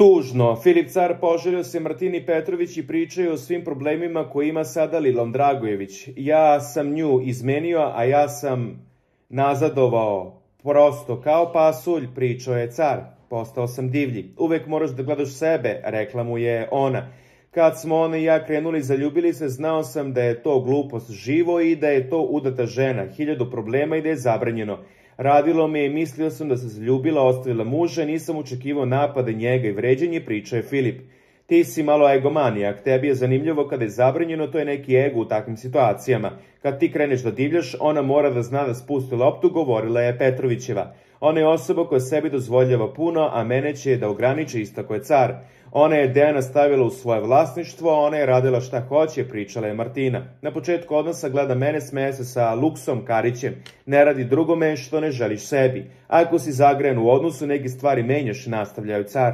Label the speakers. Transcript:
Speaker 1: Tužno, Filip car poželio se Martini Petrović i pričaju o svim problemima koje ima sada Lilom Dragojević. Ja sam nju izmenio, a ja sam nazadovao prosto kao pasulj, pričao je car. Postao sam divlji. Uvek moraš da gledaš sebe, rekla mu je ona. Kad smo ona i ja krenuli, zaljubili se, znao sam da je to glupost živo i da je to udata žena, 1000 problema i da je zabranjeno. Radilo me i mislio sam da se zaljubila, ostavila muža, nisam očekivao napade njega i vređanje, pričao je Filip. Ti si malo egomanijak, tebi je zanimljivo kada je zabranjeno, to je neki ego u takvim situacijama. Kad ti kreneš da divljaš, ona mora da zna da spusti loptu, govorila je Petrovićeva. Ona je osoba koja sebi dozvoljava puno, a mene će da ograniči, istako je car. Ona je Dejana stavila u svoje vlasništvo, ona je radila šta hoće, pričala je Martina. Na početku odnosa gleda mene, smeje se sa Luksom Karićem. Ne radi drugome što ne želiš sebi. Ako si zagrejan u odnosu, neke stvari menjaš, nastavljaju car.